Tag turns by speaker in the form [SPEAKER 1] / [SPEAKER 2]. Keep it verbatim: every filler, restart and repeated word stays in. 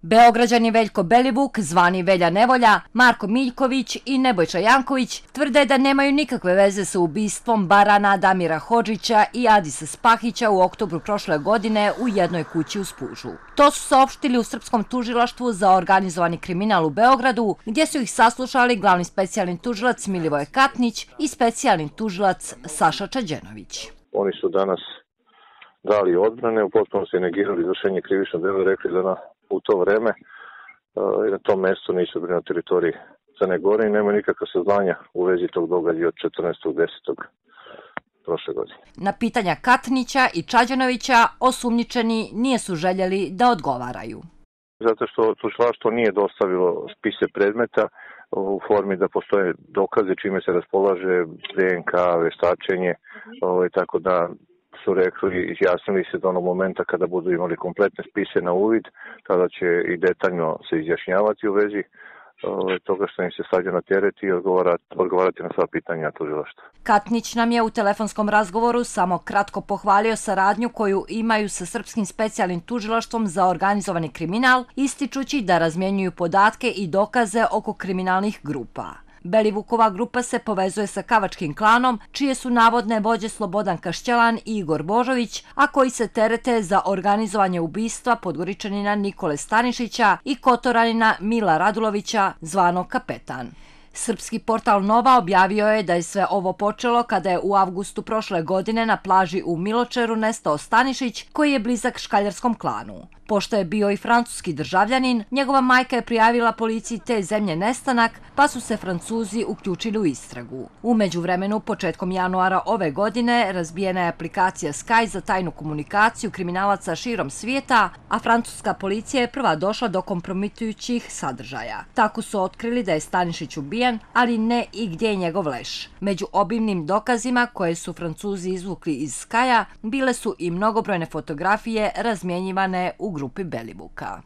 [SPEAKER 1] Beograđani Veljko Belivuk, zvani Velja Nevolja, Marko Miljković i Nebojša Janković tvrde da nemaju nikakve veze sa ubistvom barana Damira Hodžića i Adisa Spahića u oktobru prošle godine u jednoj kući u Spužu. To su saopštili u Srpskom tužilaštvu za organizovani kriminal u Beogradu, gdje su ih saslušali glavni specijalni tužilac Milivoje Katnić i specijalni tužilac Saša Čađenović.
[SPEAKER 2] Oni su danas dali odbrane, u potpunosti negirali izvršenje krivičnog dela, rekli da na u to vreme i na tom mjestu nisu bili na teritoriji Crne Gore i nemaju nikakva saznanja u vezi tog događaja od četrnaestog desetog prošle godine.
[SPEAKER 1] Na pitanja Katnića i Čađenovića osumnjičeni nisu željeli da odgovaraju.
[SPEAKER 2] Zato što tužilaštvo nije dostavilo spise predmeta u formi da postoje dokaze čime se raspolaže D N K, veštačenje, tako da su rekli i izjasnili se do onog momenta kada budu imali kompletne spise na uvid, tada će i detaljno se izjašnjavati u vezi toga što im se stavlja na teret i odgovarati, odgovarati na sva pitanja tužilaštva.
[SPEAKER 1] Katnić nam je u telefonskom razgovoru samo kratko pohvalio saradnju koju imaju sa Srpskim specijalnim tužilaštvom za organizovani kriminal, ističući da razmjenjuju podatke i dokaze oko kriminalnih grupa. Belivukova grupa se povezuje sa Kavačkim klanom, čije su navodne vođe Slobodan Kašćelan i Igor Božović, a koji se terete za organizovanje ubistva Podgoričanina Nikole Stanišića i Kotoranina Mila Radulovića, zvanog Kapetan. Srpski portal Nova objavio je da je sve ovo počelo kada je u avgustu prošle godine na plaži u Miločeru nestao Stanišić, koji je blizak škaljarskom klanu. Pošto je bio i francuski državljanin, njegova majka je prijavila policiji te zemlje nestanak, pa su se Francuzi uključili u istragu. U međuvremenu, početkom januara ove godine, razbijena je aplikacija Sky za tajnu komunikaciju kriminalaca širom svijeta, a francuska policija je prva došla do kompromitujućih sadržaja. Tako su otkrili da je Stanišić ubijen, ali ne i gdje je njegov leš. Među obimnim dokazima koje su Francuzi izvukli iz Skya bile su i mnogobrojne fotografije razmjenjivane u grupi Belivuka.